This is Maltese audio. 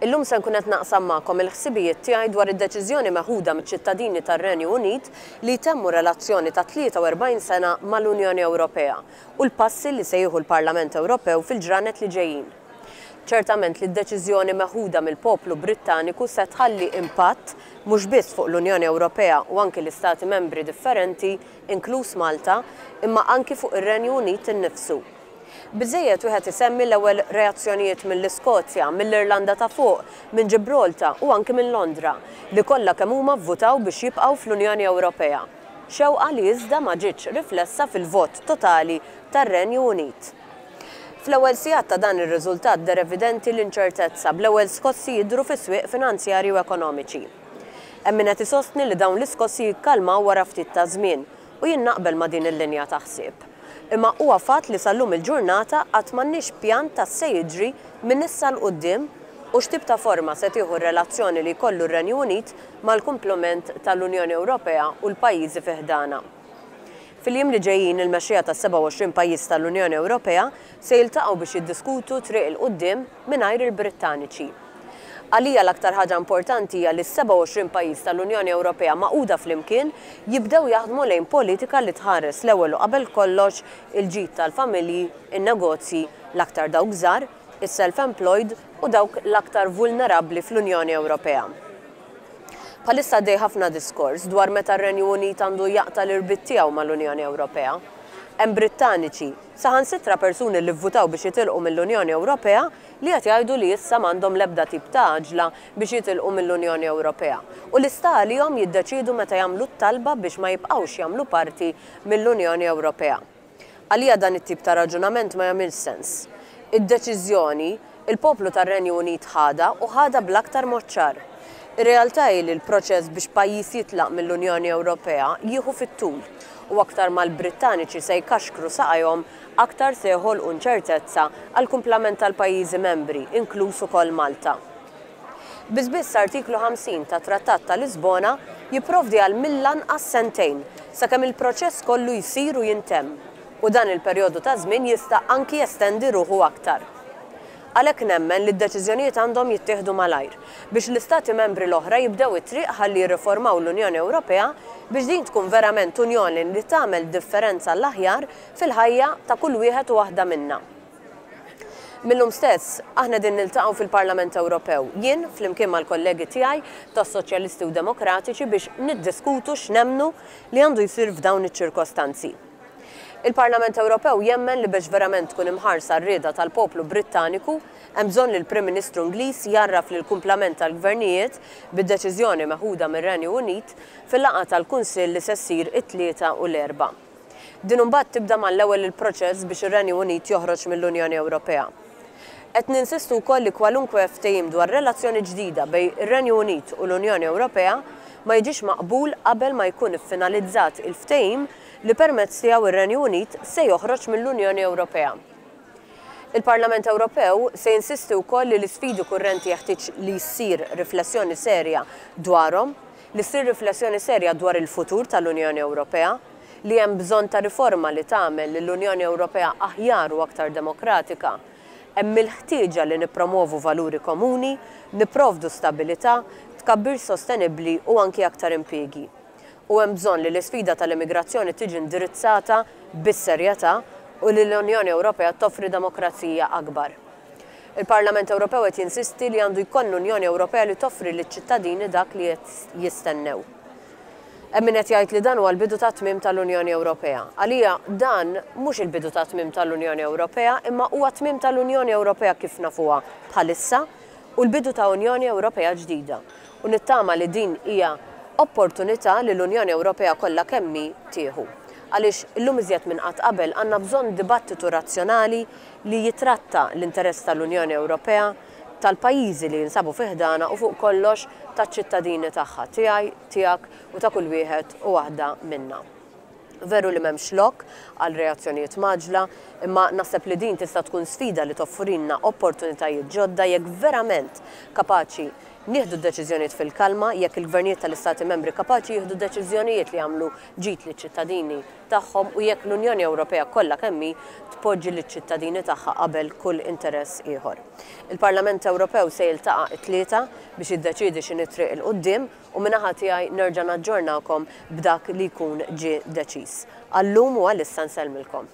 Illum se nkun qed naqsam magħkom il-ħsibijiet tiegħi dwar id-deċiżjoni meħuda miċ-ċittadini tar-Renju Unit li jtemmu relazzjoni ta' 43 sena mal-Unjoni Ewropea u l-passi li se jieħu l-Parlament Ewropew fil-ġranet li ġejjin. Ċertament li d-deċiżjoni meħuda mill-poplu Brittaniku se tħalli impatt mhux biss fuq l-Unjoni Ewropea u anki l-Istati Membri differenti, inkluż Malta, imma anki fuq ir-Renju Unit innifsu. Biżżejjed wieħed isemmi l-ewwel reazzjonijiet mill-Iskozja, mill-Irlanda ta' Fuq, minn Ġibrolta u anki minn Londra, li kollha kemm huma vvutaw biex jibqgħu fl-Unjoni Ewropea. Xewqa li iżda ma ġietx riflessa fil-vot totali tar-Renju Unit. Fl-ewwel sigħat ta' dan ir-riżultat deher evidenti l-inċertezza, bl-ewwel skossi jidhru fis-swieq finanzjarji u ekonomiċi. Hemm min qed isostni li dawn l-iskossi jikkalmaw wara ftit taż-żmien, u jien naqbel ma' din il-linja ta' ħsieb. Imma huwa fatt li sal-lum il-ġurnata għad m'għandniex pjan ta' x'se jiġri minn issa 'l quddiem u x'tip ta' forma se tieħu r-relazzjoni li jkollu r-Renju Unit mal-kumplament tal-Unjoni Ewropea u l-pajjiżi fi ħdanha. Fil-jiem li ġejjin il-mexxejja tas-27 pajjiż tal-Unjoni Ewropea se jiltaqgħu biex jiddiskutu triq 'il quddiem mingħajr il-Brittaniċi. Għalija l-aktar ħaġa importanti hija li s-27 pajjiż tal-Unjoni Ewropea magħquda flimkien jibdew jaħdmu lejn politika li tħares l-ewwel u qabel kollox il-ġid tal-familji, in-negozji, l-aktar dawk żgħar, is-self-employed u dawk l-aktar vulnerabbli fl-Unjoni Ewropea. Bħalissa għaddej ħafna diskors dwar meta r-Renju Unit għandu jaqta' l-irbit tiegħu mal-Unjoni Ewropea. Hemm Brittaniċi, saħansitra persuni li vvutaw biex jitilqu mill-Unjoni Ewropea li qed jgħidu li issa m'għandhom l-ebda tip ta' għaġla biex jitilqu mill-Unjoni Ewropea u li sta għalihom jiddeċiedu meta jagħmlu t-talba biex ma jibqgħux jagħmlu parti mill-Unjoni Ewropea. Għalija dan it-tip ta' raġunament ma jagħmilx sens. Id-deċiżjoni, il-poplu tar-Renju Unit ħadha u ħadha bl-aktar mod ċar. Ir-realtà hi li l-proċess biex pajjiż jitlaq mill-Unjoni Ewropea jieħu fit-tul u aktar ma l-Brittaniċi se jkaxkru saqajhom aktar se joħolqu inċertezza għall-kumplament tal-pajjiżi membri, inkluż ukoll Malta. Biss biss Artiklu 50 tat-Trattat ta' Lisbona jipprovdi għal mill-anqas sentejn sakemm il-proċess kollu jsir u jintemm, u dan il-perjodu ta' żmien jista' anki jestendi ruħu aktar. Għalhekk nemmen li d-deċiżjonijiet għandhom jittieħdu malajr, biex l-Istati Membri l-oħra jibdew it-triq ħalli jirriformaw l-Unjoni Ewropea biex din tkun verament Unjoni li tagħmel differenza għall-aħjar fil-ħajja ta' kull wieħed u waħda minna. Mil-lum stess, aħna qegħdin niltaqgħu fil-Parlament Ewropew, jien flimkien mal-kollegi tiegħi tas-Soċjalisti u Demokratiċi biex niddiskutu x'nemmnu li għandu jsir f'dawn iċ-ċirkostanzi. Il-Parlament Ewropew jemmen li biex verament tkun imħarsa r-rieda tal-poplu Brittaniku, hemm bżonn li l-Prim Ministru Ingliż jgħarraf lill-kumplament tal-gvernijiet bid-deċiżjoni meħuda mir-Renju Unit fil-laqgħa tal-Kunsill li se ssir it-Tlieta u l-Erbgħa. Din imbagħad tibda mal-ewwel il-proċess biex ir-Renju Unit joħroġ mill-Unjoni Ewropea. Qed ninsistu wkoll li kwalunkwe ftehim dwar relazzjoni ġdida bejn ir-Renju Unit u l-Unjoni Ewropea ma jiġix maqbul qabel ma jkun iffinalizzat il-ftehim li permezz tiegħu r-Renju Unit se joħroġ mill-Unjoni Ewropea. Il-Parlament Ewropew se jinsisti wkoll li l-isfidi kurrenti jeħtieġ li ssir riflessjoni serja dwarhom, li ssir riflessjoni serja dwar il-futur tal-Unjoni Ewropea, li hemm bżonn ta' riforma li tagħmel lill-Unjoni Ewropea aħjar u aktar demokratika. Hemm il-ħtieġa li nippromwovu valuri komuni, nipprovdu stabilità, tkabbir sostenibbli u anki aktar impiegi. U hemm bżonn li l-isfida tal-immigrazzjoni tiġi indirizzata bis-serjetà u li l-Unjoni Ewropea toffri demokrazija akbar. Il-Parlament Ewropew qed jinsisti li għandu jkollna Unjoni Ewropea li toffri liċ-ċittadini dak li qed jistennew. Hemm min qed jgħid li dan huwa l-bidu tat-tmiem tal-Unjoni Ewropea. Għalija dan mhux il-bidu tat-tmiem tal-Unjoni Ewropea imma huwa t-tmiem tal-Unjoni Ewropea kif nafuha bħalissa u l-bidu ta' Unjoni Ewropea ġdida. U nittama li din hija opportunità li l-Unjoni Ewropea kollha kemm hi tieħu. Għaliex illum iżjed minn qatt qabel għandna bżonn dibattitu razzjonali li jitratta l-interess tal-Unjoni Ewropea, tal-pajjiżi li jinsabu fi ħdanha u fuq kollox taċ-ċittadini tagħha, tiegħi, tiegħek u ta' kull wieħed u waħda minna. Veru li m'hemmx lok għal reazzjonijiet mgħaġġla, imma naħseb li din tista' tkun sfida li toffrilna opportunitajiet ġodda jekk verament kapaċi nieħdu d-deċiżjonijiet fil-kalma, jekk il-gvernijiet tal-Istati Membri kapaċi jieħdu deċiżjonijiet li jagħmlu ġid liċ-ċittadini tagħhom u jekk l-Unjoni Ewropea kollha kemm hi tpoġġi liċ-ċittadini tagħha qabel kull interess ieħor. Il-Parlament Ewropew se jiltaqa' t-Tlieta biex jiddeċiedi x'inhi t-triq 'il quddiem u min-naħa tiegħi nerġa' naġġornakom b'dak li jkun ġie deċiż. Għal-lum u għalissa nsellmilkom.